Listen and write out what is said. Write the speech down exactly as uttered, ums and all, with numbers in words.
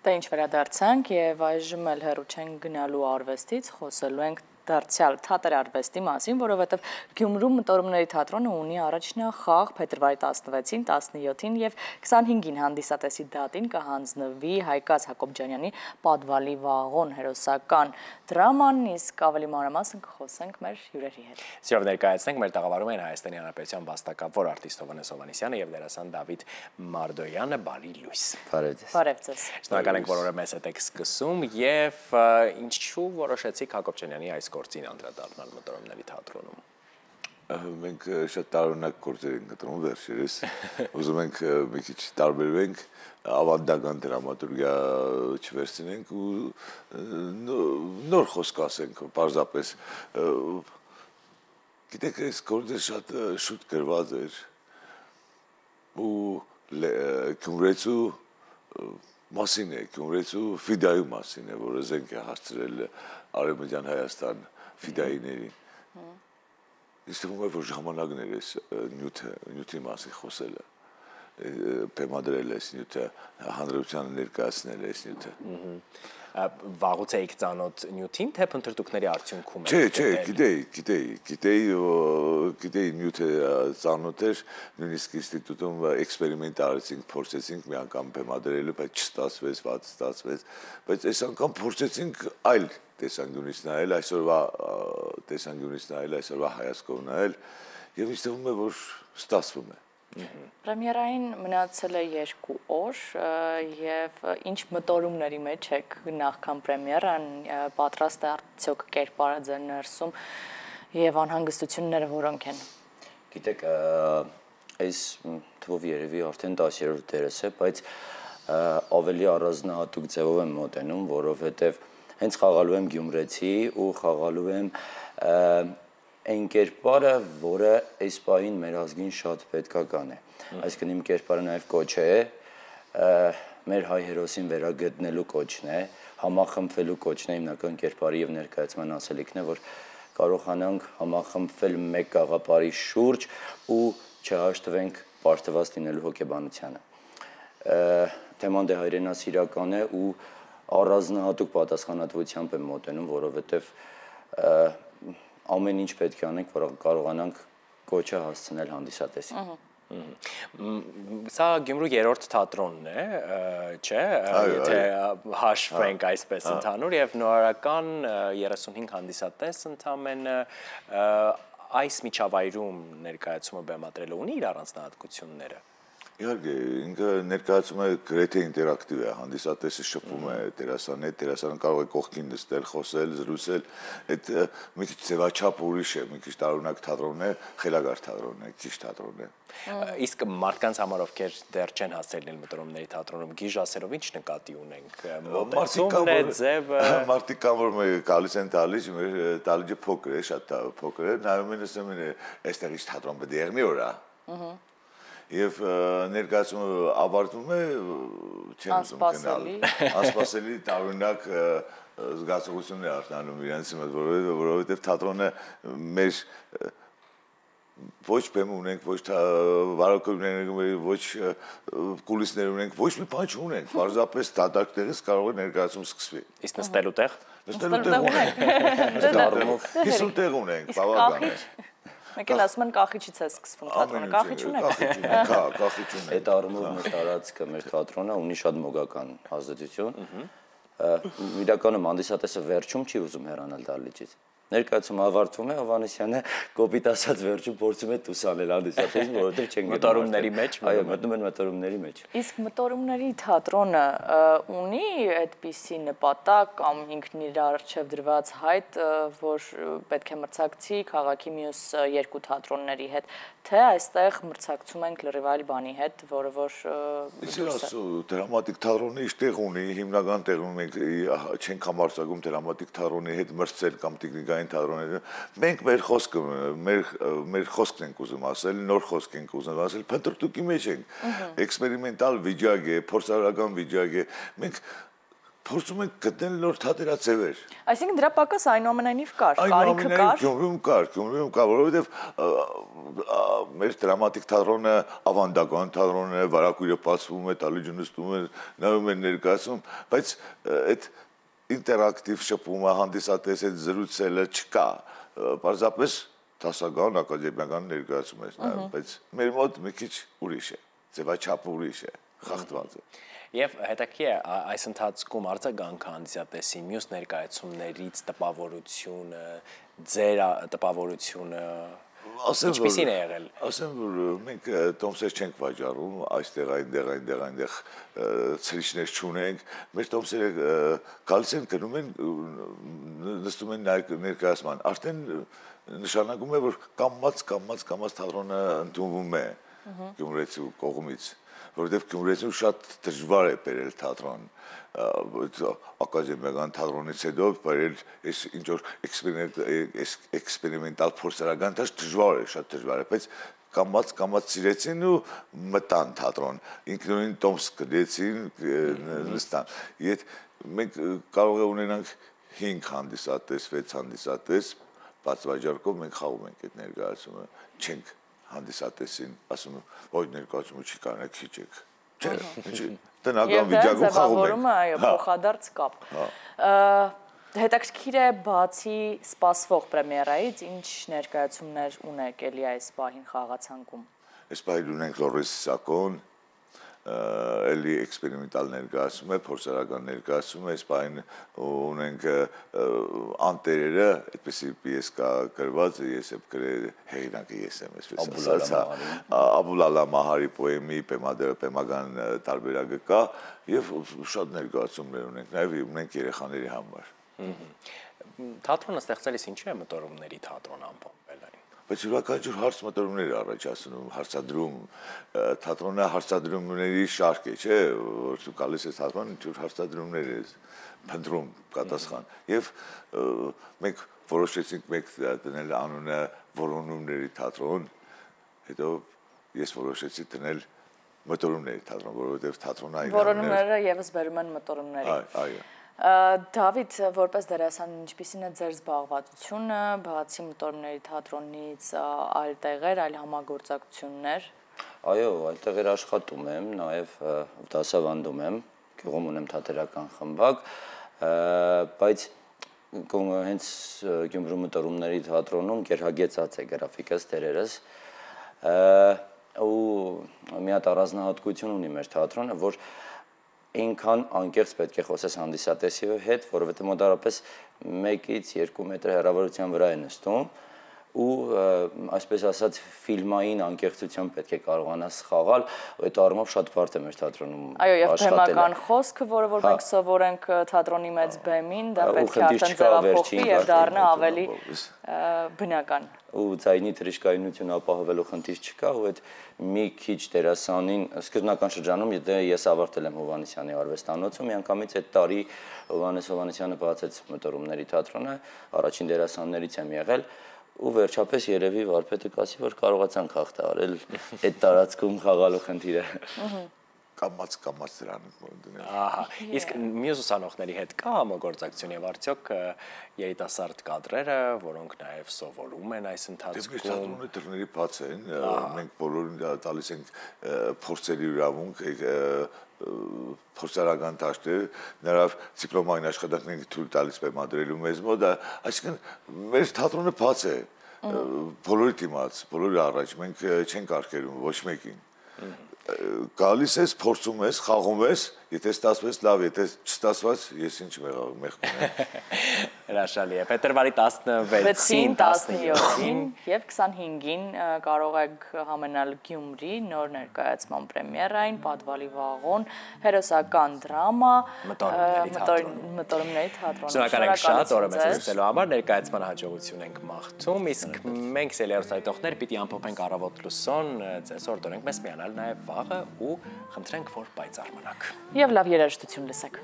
Դա ինչ վերադարձանք եւ այժմ էլ հեռու չենք գնալու արվեստից, խոսելու ենք դարձյալ թատերարվեստի մասին, որովհետև Գյումրու մտորումների թատրոնը ունի առաջնախաղ փետրվարի տասնվեցին, տասնյոթին եւ քսանհինգին հանդիսատեսի դատին կհանձնվի Հայկաց Հակոբյանյանի Պատվալի վաղոն հերոսական դրաման, իսկ ավելի մանրամասն կխոսենք մեր հյուրերի հետ։ Սիրով ներկայացնենք մեր տաղավարում են Հայաստանի Հանրապետության վաստակավոր արտիստ Հովհաննես Հովհաննիսյանը եւ դերասան Դավիթ Մարդոյանը, բարի լույս։ Բարև ձեզ։ Շնորհակալ ենք, որ օրը մեզ հետ եք սկսում եւ ինչու որոշեցիք Հակոբյանյանի այս գործին անդրադառնալ մտորումների թատրոնում։ Մենք շատ տարօրինակ գործեր ենք կտրում վերջերս, ուզում ենք մի քիչ տարբերվենք, ավանդական դրամատուրգիա չվերցնենք ու նոր խոսք ասենք, պարզապես գիտեք, այս գործը շատ շուտ գրված էր ու Գյումրեցու մասին է, Գյումրեցու ֆիդայու մասին է, որը զենք է հասցրել Արևմտյան Հայաստան ֆիդայիներին։ Ինձ թվում է, որ ժամանակն էր այս նյութի մասին խոսելը, բեմադրել այս նյութը, հանրությանը ներկայացնել այս նյութը։ Վաղուց էիք ծանոթ նյութին, թե փնտրտուքների արդյունքում եք։ Չէ, չէ, գիտեի, գիտեի, գիտեի, գիտեի նյութը ծանոթ էր, նույնիսկ ինստիտուտում էքսպերիմենտ արեցինք, փորձեցինք մի անգամ բեմադրելու, բայց չստացվեց, վատ ստացվեց, բայց այս անգամ փորձեցինք այլ տեսանկյունից նայել, այսօրվա տեսանկյունից նայել, այսօրվա հայացքով նայել, եւ ինձ թվում է, որ ստացվում է։ Պրեմիերային մնացել է երկու օր եւ ինչ մտորումների մեջ եք նախքան պրեմիերան, պատրաստ է արդյոք կերպարը ձեր ներսում եւ անհանգստությունները որոնք են։ Գիտեք, այս թվով երևի արդեն տասերորդ դերս է, բայց ավելի առանձնահատուկ ձևով եմ մոտենում, որովհետեւ հենց խաղալու եմ գյումրեցի ու խաղալու եմ այն կերպարը, որը այս պահին մեր ազգին շատ պետքական է։ Այսինքն իմ կերպարը նաև կոչ է, մեր հայ հերոսին վերագտնելու կոչն է, համախմբվելու կոչն է, հիմնական կերպարի եւ ներկայացման ասելիքն է, որ կարողանանք համախմբվել մեկ գաղափարի շուրջ ու չհաշտվենք պարտված լինելու հոգեբանությանը։ Թեման դե հայրենասիրական է ու առանձնահատուկ պատասխանատվությամբ եմ մոտենում, որովհետև ամեն ինչ պետք է անենք, որ կարողանանք կոչը հասցնել հանդիսատեսին։ Սա Գյումրու երրորդ թատրոնն է, չէ՞, եթե հաշվենք այսպես ընդհանուր եւ նորարարական երեսունհինգ հանդիսատես ընդամենը այս միջավայրում ներկայացումը բեմադրելը ունի իր առանձնահատկությունները։ Իհարկե, ինքը ներկայացում է գրեթե ինտերակտիվ է, հանդիսատեսը շփվում է դերասանի հետ, դերասանը կարող է կողքին նստել, խոսել, զրուցել, այդ մի քիչ ձևաչափ ուրիշ է, մի քիչ տարօրինակ թատրոնն է, խելագար թատրոնն է, քիչ թատրոնն է։ Իսկ մարդկանց համար ովքեր դեռ չեն հասել մտորումների թատրոնում, գիժասերով ինչ նկատի ունենք։ Մոտեցումն է, ձևը։ Մարդիկ կան, որ մեր գալիս են տալիս, մեր տալիջը փոքր է, շատ փոքր է, նայում են ասում են, այստեղ ինչ թատրոն պետք է եղնի օրա։ Եվ ներկայացումը ավարտվում է, չեմ ուզում գնալ, անսպասելի տարօրինակ զգացողություններ արտանում իրենց մոտ, որովհետև թատրոնը մեր ոչ բեմ ունենք, ոչ վարակույրներ ունենք, ոչ կուլիսներ ունենք, ոչ մի բան չունենք, պարզապես դատարկ տեղից կարող է ներկայացում սկսվի։ Իսկ նստելու տեղ։ Նստելու տեղ ունենք։ հիսուն տեղ ունենք, բավական է։ Մեկ էլ ասում են կախիչից է սկսվում թատրոնը, կախիչ ունեք։ Կա, կախիչ ունենք։ Այդ առումով մեր տարածքը, մեր թատրոնը ունի շատ մոգական ազդեցություն։ Իրականում հանդիսատեսը վերջում չի ուզում հեռանալ դահլիճից։ Ներկայացումը ավարտվում է, Հովհաննիսյանը կոպիտ ասած վերջում փորձում է տուսանել հանդիսատեսին, որովհետև չեն գնում մտորումների մեջ, այո, մտնում են մտորումների մեջ։ Իսկ մտորումների թատրոնը ունի այդպիսի նպատակ կամ ինքն իր առջև դրված հայտ, որ պետք է մրցակցի քաղաքի մյուս երկու թատրոնների հետ, թե այստեղ մրցակցում ենք լրիվ այլ բանի հետ, որը որ դրամատիկ թատրոնը իր տեղ ունի, հիմնական տեղ ունի, մենք չենք համարձակում դրամատիկ թատրոնի հետ մրցել կամ տեխնիկային թատրոնները, մենք մեր խոսքը, մեր խոսքն ենք ուզում ասել, նոր խոսք ենք ուզում ասել, փնտրտուքի մեջ ենք, էքսպերիմենտալ վիճակ է, փորձարարական վիճակ է, մենք փորձում ենք գտնել նոր թատերաձևեր։ Այսինքն դրա պակաս այնուամենայնիվ կար, կարիքը կար։ Այնուամենայնիվ Գյումրիում կար, Գյումրիում կար, որովհետև մեր դրամատիկ թատրոնը, ավանդական թատրոնն է, վարակույրը բացվում է, տալիջը նստում է, նայում են ներկայացում, բայց այդ ինտերակտիվ շփումը, հանդիսատես այդ զրուցելը չկա։ Պարզապես դասական, ակադեմիական ներկայացում ես նայում, բայց մեր մոտ մի քիչ ուրիշ է, ձևաչափը ուրիշ է, խախտված է։ Եվ հետաքրքիր է այս ընթացքում արձագանքը հանդիսատեսի մյուս ներկայացումներից տպավորությունը, ձեր տպավորությունը ինչպիսին է եղել։ Ասեմ, որ մենք տոմսեր չենք վաճառում, այստեղ, այնտեղ, այնտեղ, այնտեղ ցրիչներ չունենք, մեր տոմսերը գալիս են, գնում են, նստում են ներկայացման, արդեն նշանակում է, որ կամած, կամած, կամած թատրոնը ընդունվում է գյումրեցու կողմից, որովհետև Գյումրիում շատ դժվար է բերել թատրոն, ակադեմիական թատրոնից հետո բերել այս ինչ որ էքսպերիմենտալ փորձարական դաշ դժվար է, շատ դժվար է, բայց կամած կամած սիրեցին ու մտան թատրոն, ինքնուրույն տոմս կրեցին, նստան։ Եդ մենք կարող է ունենանք հինգ հանդիսատես, վեց հանդիսատես, բաց վաճառքով մենք խաղում ենք այդ ներկայացումը, չենք հանդիսատեսին, ասում եմ, ոյ ներկայացումը չի կարողանա քիչ եք։ Չէ, ինչի տնական վիճակում խաղում ենք։ Այո, փոխադարձ կապ։ Հետաքրքիր է բացի սպասվող պրեմիերայից, ինչ ներկայացումներ ունեք էլի այս պահին խաղացանկում։ Այս պահին ունենք Լորես Սակոն, էլի էքսպերիմենտալ ներկայացում է, փորձարական ներկայացում է, այս պահին ունենք անտերերը, այդպեսի պիես կա գրված, ես եմ գրել հեղինակը ես եմ, այսպես ասած, Աբուլալա Մահարի պոեմի պեմական տարբերակը կա եւ շատ ներկայացումներ ունենք, նաեւ ունենք երեխաների համար։ Թատրոնը ստեղծելիս ինչու է մտորումների թատրոն ամփոփվել այն։ Բայց յուրաքանչյուր հարց մտորումներ առաջացնում, հարցադրում, թատրոնը հարցադրումների շարք է, չէ, որ դու գալիս ես թատրոն, ինչ-որ հարցադրումներ ես փնտրում պատասխան։ Եվ մենք որոշեցինք մեկ դնել անունը որոնումների թատրոն, հետո ես որոշեցի դնել մտորումների թատրոն, որովհետև թատրոնը այն որոնումները եւս բերում են մտորումների։ Այո։ Դավիթ, որպես դերասան, ինչպիսին է ձեր զբաղվածությունը, բացի մտորումների թատրոնից, այլ տեղեր, այլ համագործակցություններ։ Այո, այլ տեղեր աշխատում եմ, նաև դասավանդում եմ, գյուղում ունեմ թատերական խմբակ, բայց հենց Գյումրու մտորումների թատրոնում գերհագեցած է գրաֆիկս դերերս, ու մի հատ առանձնահատկություն ունի մեր թատրոնը, որ ինքան անկեղծ պետք է խոսես հանդիսատեսի հետ, որովհետև մոտավորապես մեկից երկու մետր հեռավորության վրա է նստում ու այսպես ասած ֆիլմային անկեղծությամբ պետք է կարողանաս խաղալ, այդ առումով շատ բարդ է մեր թատրոնում աշխատելը։ Այո, եւ բեմական խոսքը, որը որ մենք սովորենք թատրոնի մեծ բեմին, դա պետք է արդեն ձևափոխվի եւ դառնա ավելի բնական։ Ու ձայնի թրիշկայնություն ապահովելու խնդիր չկա, ու այդ մի քիչ դերասանին սկզբնական շրջանում, եթե ես ավարտել եմ Հովհաննիսյանի արվեստանոցում, միանգամից այդ տարի Հովհաննես Հովհաննիսյանը բացեց մտորումների թատրոնը, առաջին դերասաններից եմ եղել, ու վերջապես երևի վարպետը կասի, որ կարողացանք հաղթահարել այդ տարածքում խաղալու խնդիրը։ Կամած կամած դրան դնել։ Ահա, իսկ մյուս ուսանողների հետ կա համագործակցություն եւ արդյոք երիտասարդ կադրերը, որոնք նաեւ սովորում են այս ընթացքում։ Թատրոնի դռների բաց են, մենք բոլորին տալիս ենք փորձերի իրավունք, փորձարական դաշտեր, նրա դիպլոմային աշխատանքները թույլ տալիս բեմադրելու մեզ մոտ, այսինքն մեր թատրոնը բաց է, բոլորի դիմաց, բոլորի առաջ, մենք չենք արգելում ոչ մեկին։ Գալիս ես, փորձում ես, խաղում ես, եթե ստացվեց լավ, եթե չստացված, ես ինչ մեղքում եմ։ Հրաշալի է։ Փետրվարի տասնվեցին, տասնյոթին եւ քսանհինգին կարող եք համենալ Գյումրի նոր ներկայացման պրեմիերային, Պատվալի վաղոն, հերոսական դրամա, մտորումների թատրոն։ Շնորհակալ ենք շատ օրը մեզ լսելու համար, ներկայացման հաջողություն ենք մաղթում, իսկ մենք սելերոսայտողներ պիտի ամփոփենք առավոտ լուսոն, ձեզ օրդոնենք մեզ միանալ նաեւ վաղը ու խնդրենք, որ պայծառ մնաք։ Եվ լավ երաժշտություն լսեք։